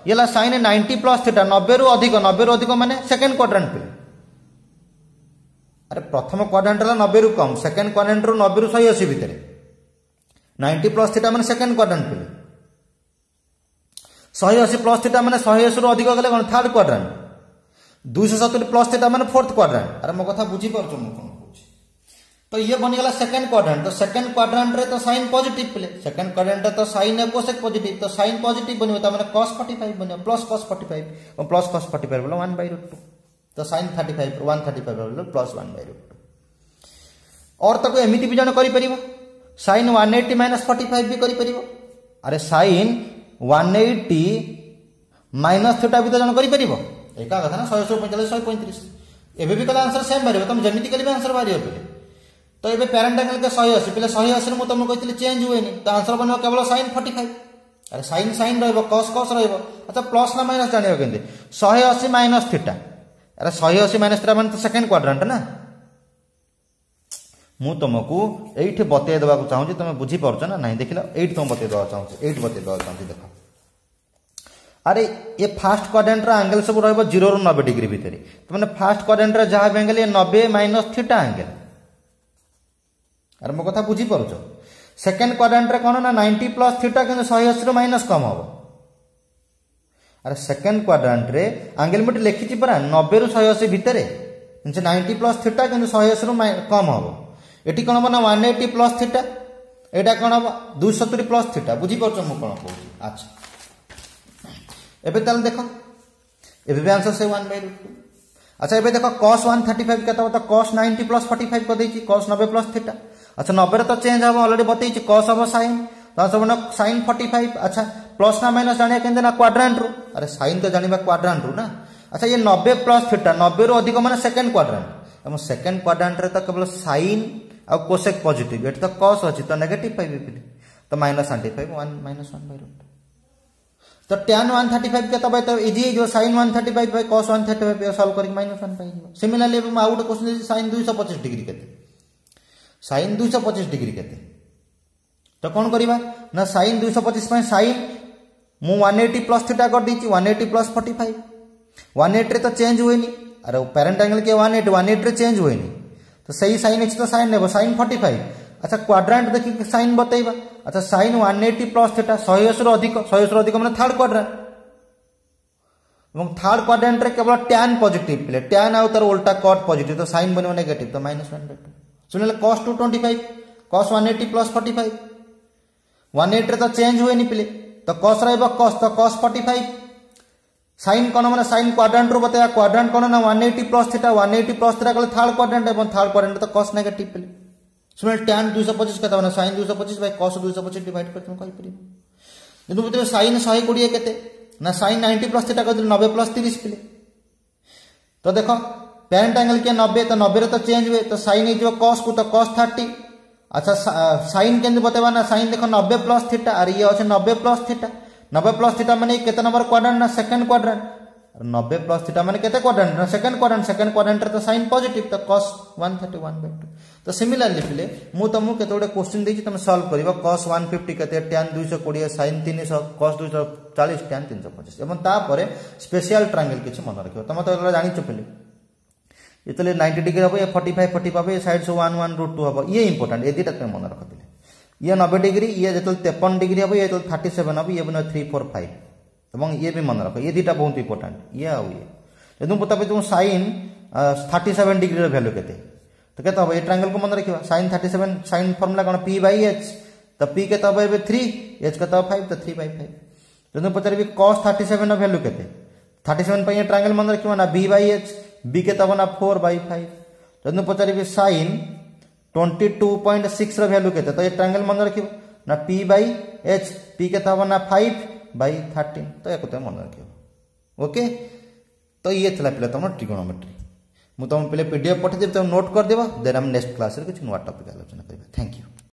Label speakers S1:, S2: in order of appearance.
S1: ଇଏ ହେଲା sign 90 plus theta, 90ରୁ ଅଧିକ। 90ରୁ ଅଧିକ ମାନେ ସେକେଣ୍ଡ କ୍ୱାଡ୍ରାଣ୍ଟ ପିଲେ। ଆରେ ପ୍ରଥମ କ୍ୱାଡ୍ରାଣ୍ଟ ହେଲା 90ରୁ କମ୍, ସେକେଣ୍ଡ କ୍ୱାଡ୍ରାଣ୍ଟରୁ 90ରୁ 180 ଭିତରେ। 90 ପ୍ଲସ୍ ଥିଟା ମାନେ ସେକେଣ୍ଡ କ୍ୱାଡ୍ରାଣ୍ଟ ପିଲେ। 180 ପ୍ଲସ୍ ଥିଟା ମାନେ 180ରୁ ଅଧିକ ଗଲେ କ'ଣ? Third quadrant. 270 plus theta ମାନେ ଫୋର୍ଥ କ୍ୱାଡ୍ରାଣ୍ଟ। ଆରେ ମୋ କଥା ବୁଝିପାରୁଛ ମୁଁ କ'ଣ କହୁଛି? ତ ଇଏ ବନିଗଲା ସେକେଣ୍ଡ କ୍ୱାଡ୍ରାଣ୍ଟ। ତ ସେକେଣ୍ଡ କ୍ୱାଡ୍ରାଣ୍ଟରେ ତ ସାଇନ୍ ପଜିଟିଭ ପିଲେ। ସେକେଣ୍ଡ କ୍ୱାଡ୍ରାଣ୍ଟରେ ତ ସାଇନ୍ ଆଉ କୋସେକ୍ ପଜିଟିଭ, ତ ସାଇନ୍ ପଜିଟିଭ ବନିବ, ତା ମାନେ କସ୍ 45 ବନିବ, ପ୍ଲସ୍ କସ୍ 45। ପ୍ଲସ୍ କସ୍ 45 ବୋଲେ 1 ବାଇ ରୁଟ୍ 2। ତ ସାଇନ୍ 35, 135 ବୋଲେ ପ୍ଲସ୍ 1 ବାଇ ରୁଟ୍ 2। ଅର୍ ତାକୁ ଏମିତି ବି ଜଣେ କରିପାରିବ, ସାଇନ୍ 180 ମାଇନସ୍ 45 ବି କରିପାରିବ। ଆରେ ସାଇନ୍ 180 ମାଇନସ୍ ଥିଟା ବି ତ ଜଣେ କରିପାରିବ। ଏକା କଥା ନା? 180, 45, 135। ଏବେ ବି କଲେ ଆନ୍ସର ସେମ୍ ବାହାରିବ। ତମେ ଯେମିତି କଲେ ବି ଆନ୍ସର ବାହାରିବ ପିଲେ। ତ ଏବେ ପ୍ୟାରେଣ୍ଟ ଆଙ୍ଗେଲ 180 ପିଲେ। 180ରେ ମୁଁ ତମକୁ କହିଥିଲି ଚେଞ୍ଜ ହୁଏନି, ତ ଆନ୍ସର ବନିବ କେବଳ ସାଇନ୍ 45। ଆରେ ସାଇନ୍ ସାଇନ୍ ରହିବ, କସ୍ କସ୍ ରହିବ। ଆଚ୍ଛା, ପ୍ଲସ୍ ନା ମାଇନସ୍ ଜାଣିବ କେମିତି? 180 ମାଇନସ୍ ଥିଟା। ଆରେ 180 ମାଇନସ୍ ଥିଟା ମାନେ ତ ସେକେଣ୍ଡ କ୍ୱାଡ୍ରାଣ୍ଟ ନା? ମୁଁ ତମକୁ ଏଇଠି ବତେଇ ଦେବାକୁ ଚାହୁଁଛି, ତମେ ବୁଝିପାରୁଛ ନା ନାହିଁ ଦେଖିଲ। ଏଇଠି ତମକୁ ବତେଇ ଦେବାକୁ ଚାହୁଁଛି, ଏଇଠି ବତେଇ ଦେବାକୁ ଚାହୁଁଛି, ଦେଖ। ଆରେ ଏ ଫାର୍ଷ୍ଟ କ୍ୱାଡ୍ରାଣ୍ଟର ଆଙ୍ଗେଲ ସବୁ ରହିବ 0ରୁ 90 ଡିଗ୍ରୀ ଭିତରେ। ତ ମାନେ ଫାର୍ଷ୍ଟ କ୍ୱାଡ୍ରାଣ୍ଟର ଯାହା ବି ଆଙ୍ଗେଲ, ଏ 90 ମାଇନସ୍ ଥିଟା ଆଙ୍ଗେଲ। ଆରେ ମୋ କଥା ବୁଝିପାରୁଛ? ସେକେଣ୍ଡ କ୍ୱାଡ୍ରାଣ୍ଟରେ କ'ଣ ନା 90 ପ୍ଲସ୍ ଥିଟା, କିନ୍ତୁ 180ରୁ ମାଇନସ୍ କମ୍ ହବ। ଆରେ ସେକେଣ୍ଡ କ୍ୱାଡ୍ରାଣ୍ଟରେ ଆଙ୍ଗେଲ ମୁଁ ଏଠି ଲେଖିଛି ପରା, 90ରୁ 180 ଭିତରେ, ସେ 90 ପ୍ଲସ୍ ଥିଟା କିନ୍ତୁ 180ରୁ କମ୍ ହବ। ଏଠି କ'ଣ ହବ ନା 180 ପ୍ଲସ୍ ଥିଟା। ଏଇଟା କ'ଣ ହବ? 270 ପ୍ଲସ୍ ଥିଟା। ବୁଝିପାରୁଛ ମୁଁ କ'ଣ କହୁଛି? ଆଚ୍ଛା, ଏବେ ତାହେଲେ ଦେଖ, ଏବେ ବି ଆନ୍ସର ସେ 1 ବାଇ ରୁଟ୍ 2। ଆଚ୍ଛା, ଏବେ ଦେଖ, କସ୍ 135 କେତେ ହବ? ତ କସ୍ 90 ପ୍ଲସ୍ 45 କରିଦେଇଛି, କସ୍ 90 ପ୍ଲସ୍ ଥିଟା। ଆଚ୍ଛା, 90ରେ ତ ଚେଞ୍ଜ ହବ, ଅଲରେଡି ବତେଇଛି, କସ୍ ହବ ସାଇନ୍, ତ ଆନ୍ସର ବନିବ ସାଇନ୍ 45। ଆଚ୍ଛା, ପ୍ଲସ୍ ନା ମାଇନସ୍ ଜାଣିବା କେମିତି ନା କ୍ୱାଡ୍ରାଣ୍ଟରୁ। ଆରେ ସାଇନ୍ ତ ଜାଣିବା କ୍ୱାଡ୍ରାଣ୍ଟରୁ ନା? ଆଚ୍ଛା, ଇଏ 90 ପ୍ଲସ୍ ଥିଟା, 90ରୁ ଅଧିକ ମାନେ ସେକେଣ୍ଡ କ୍ୱାଡ୍ରାଣ୍ଟ। ଏବଂ ସେକେଣ୍ଡ କ୍ୱାଡ୍ରାଣ୍ଟରେ ତ କେବଳ ସାଇନ୍ ଆଉ କୋସେକ୍ ପଜିଟିଭ, ଏଠି ତ କସ୍ ଅଛି, ତ ନେଗେଟିଭ ପାଇବେ ପିଲେ। ତ ମାଇନସ୍ 25, 1 ମାଇନସ୍ 1 ବାଇ ରୁଟ୍। ତ ଟ୍ୟାନ୍ 135 କେତେ ହବ? ତ ଇଜି ହେଇଯିବ, ସାଇନ୍ 135 ବାଇ କସ୍ 135 ସଲ୍ଭ କରିକି ମାଇନସ୍ 1 ପାଇଯିବ। ସିମିଲାରଲି ଏବେ ମୁଁ ଆଉ ଗୋଟେ କ୍ୱେଶ୍ଚନ୍ ଦେଇଛି, ସାଇନ୍ 225 ଡିଗ୍ରୀ କେତେ? ସାଇନ୍ 225 ଡିଗ୍ରୀ କେତେ? ତ କ'ଣ କରିବା ନା ସାଇନ୍ 225 ପାଇଁ ସାଇନ୍ ମୁଁ 180 ପ୍ଲସ୍ ଥିଟା କରିଦେଇଛି, 180 ପ୍ଲସ୍ 45। 180ରେ ତ ଚେଞ୍ଜ ହୁଏନି। ଆରେ ପ୍ୟାରେଣ୍ଟ ଆଙ୍ଗେଲ କିଏ? 180। 180ରେ ଚେଞ୍ଜ ହୁଏନି, ତ ସେଇ ସାଇନ୍ ଅଛି, ତ ସାଇନ୍ ନେବ, ସାଇନ୍ 45। ଆଚ୍ଛା, କ୍ୱାଡ୍ରାଣ୍ଟ ଦେଖିକି ସାଇନ୍ ବତେଇବା। ଆଚ୍ଛା, ସାଇନ୍ 180 ପ୍ଲସ୍ ଥିଟା, 180ରୁ ଅଧିକ। 180ରୁ ଅଧିକ ମାନେ ଥାର୍ଡ କ୍ୱାଡ୍ରାଣ୍ଟ। ଏବଂ ଥାର୍ଡ କ୍ୱାଡ୍ରାଣ୍ଟରେ କେବଳ ଟ୍ୟାନ୍ ପଜିଟିଭ ପିଲେ, ଟ୍ୟାନ୍ ଆଉ ତାର ଓଲଟା କଟ୍ ପଜିଟିଭ, ତ ସାଇନ୍ ବନିବ ନେଗେଟିଭ, ତ ମାଇନସ୍ 1 ବାଇ 2। ଶୁଣିଲେ, କସ୍ 225, କସ୍ 180 ପ୍ଲସ୍ 45। 180ରେ ତ ଚେଞ୍ଜ ହୁଏନି ପିଲେ, ତ କସ୍ ରହିବ କସ୍, ତ କସ୍ 45। ସାଇନ୍ କ'ଣ ମାନେ ସାଇନ୍ କ୍ୱାଡ୍ରାଣ୍ଟରୁ ବତେଇବା। କ୍ୱାଡ୍ରାଣ୍ଟ କ'ଣ ନା 180 ପ୍ଲସ୍ ଥିଟା। 180 ପ୍ଲସ୍ ଥିଟା କଲେ ଥାର୍ଡ କ୍ୱାଡ୍ରାଣ୍ଟ, ଏବଂ ଥାର୍ଡ କ୍ୱାଡ୍ରାଣ୍ଟ ତ କସ୍ ନେଗେଟିଭ ପିଲେ। ଶୁଣିଲେ, ଟ୍ୟାନ୍ 225 କେତେ ମାନେ ସାଇନ୍ 225 ବାଇ କସ୍ 225 ଡିଭାଇଡ୍ କରି ତୁମେ କହିପାରିବ। କିନ୍ତୁ ବୁଝିବେ, ସାଇନ୍ 120 କେତେ ନା ସାଇନ୍ 90 ପ୍ଲସ୍ ଥିଟା କହିଥିଲି, 90 ପ୍ଲସ୍ 30 ପିଲେ। ତ ଦେଖ, ପ୍ୟାରେଣ୍ଟ ଆଙ୍ଗେଲ କିଏ? 90। ତ 90ରେ ତ ଚେଞ୍ଜ ହୁଏ, ତ ସାଇନ୍ ହେଇଯିବ କସ୍କୁ, ତ କସ୍ 30। ଆଚ୍ଛା, ସାଇନ୍ କେମିତି ବତେଇବା ନା ସାଇନ୍ ଦେଖ, 90 ପ୍ଲସ୍ ଥିଟା। ଆରେ ଇଏ ଅଛି 90 ପ୍ଲସ୍ ଥିଟା। 90 ପ୍ଲସ୍ ଥିଟା ମାନେ କେତେ ନମ୍ବର କ୍ୱାଡ୍ରାଣ୍ଟ ନା ସେକେଣ୍ଡ କ୍ୱାଡ୍ରାଣ୍ଟ। 90 ପ୍ଲସ୍ ଥିଟା ମାନେ କେତେ କ୍ୱାଡ୍ରାଣ୍ଟ ନା ସେକେଣ୍ଡ କ୍ୱାଡ୍ରାଣ୍ଟ। ସେକେଣ୍ଡ କ୍ୱାଡ୍ରାଣ୍ଟରେ ତ ସାଇନ୍ ପଜିଟିଭ, ତ କସ୍ 130 1 ବାଇ 2। ତ ସିମିଲାରଲି ପିଲେ, ମୁଁ ତମକୁ କେତେ ଗୋଟେ କ୍ୱେଶ୍ଚିନ୍ ଦେଇଛି, ତମେ ସଲ୍ଭ କରିବ। କସ୍ 150 କେତେ, ଟ୍ୟାନ୍ 220, ସାଇନ୍ 300, କସ୍ 240, ଟ୍ୟାନ୍ 325। ଏବଂ ତାପରେ ସ୍ପେଶିଆଲ ଟ୍ରାଙ୍ଗେଲ କିଛି ମନେ ରଖିବ। ତମେ ତ ଏଗୁଡ଼ା ଜାଣିଛ ପିଲେ। ଯେତେବେଳେ 90 ଡିଗ୍ରୀ ହେବ, ଇଏ 45 45 ହେବ, ଏ ସାଇଡ୍ ସବୁ 1 1 ରୁଟ୍ 2 ହେବ। ଇଏ ଇମ୍ପୋର୍ଟାଣ୍ଟ, ଏ ଦୁଇଟା ତୁମେ ମନେ ରଖ ପିଲେ। ଇଏ 90 ଡିଗ୍ରୀ, ଇଏ ଯେତେବେଳେ 53 ଡିଗ୍ରୀ ହେବ, ଇଏ ଯେତେବେଳେ 37 ହେବ, ଇଏ ବନିବ 3 4 5। ଏବଂ ଇଏ ବି ମନେ ରଖ, ଇଏ ଦୁଇଟା ବହୁତ ଇମ୍ପୋର୍ଟାଣ୍ଟ, ଇଏ ଆଉ ଇଏ। ଯଦି ମୁଁ ତାପରେ ତୁମ ସାଇନ୍ 37 ଡିଗ୍ରୀର ଭ୍ୟାଲୁ କେତେ, ତ କେତେ ହେବ? ଏ ଟ୍ରାଙ୍ଗେଲକୁ ମନେ ରଖିବା। ସାଇନ୍ 37, ସାଇନ୍ ଫର୍ମୁଲା କ'ଣ? P by H. ତ ପି କେତେ ହେବ ଏବେ? 3। ଏଚ୍ କେତେ ହେବ? 5। ତ 3 ବାଇ 5। ଯଦି ମୁଁ ପଚାରିବି କସ୍ 37ର ଭ୍ୟାଲୁ କେତେ, 37 ପାଇଁ ଏ ଟ୍ରାଙ୍ଗେଲ ମନେ ରଖିବ ନା ବି ବାଇ ଏଚ୍। ବି କେତେ ହେବ ନା 4 ବାଇ 5। ଯଦି ମୁଁ ପଚାରିବି ସାଇନ୍ 22.6ର ଭ୍ୟାଲୁ କେତେ, ତ ଏ ଟ୍ରାଙ୍ଗେଲ ମନେ ରଖିବ ନା ପି ବାଇ ଏଚ୍। ପି କେତେ ହେବ ନା 5 ବାଇ 13। ତ ୟାକୁ ତୁମେ ମନେ ରଖିବ। ଓକେ, ତ ଇଏ ଥିଲା ପିଲା ତୁମର ଟ୍ରିଗୋନୋମେଟ୍ରି। ମୁଁ ତୁମ ପିଲା ପିଡିଏଫ୍ ପଠେଇଦେବି, ତୁମେ ନୋଟ୍ କରିଦେବ। ଦେନ୍ ଆମେ ନେକ୍ସଟ କ୍ଲାସ୍ରେ କିଛି ନୂଆ ଟପିକ୍ ଆଲୋଚନା କରିବା। Thank you.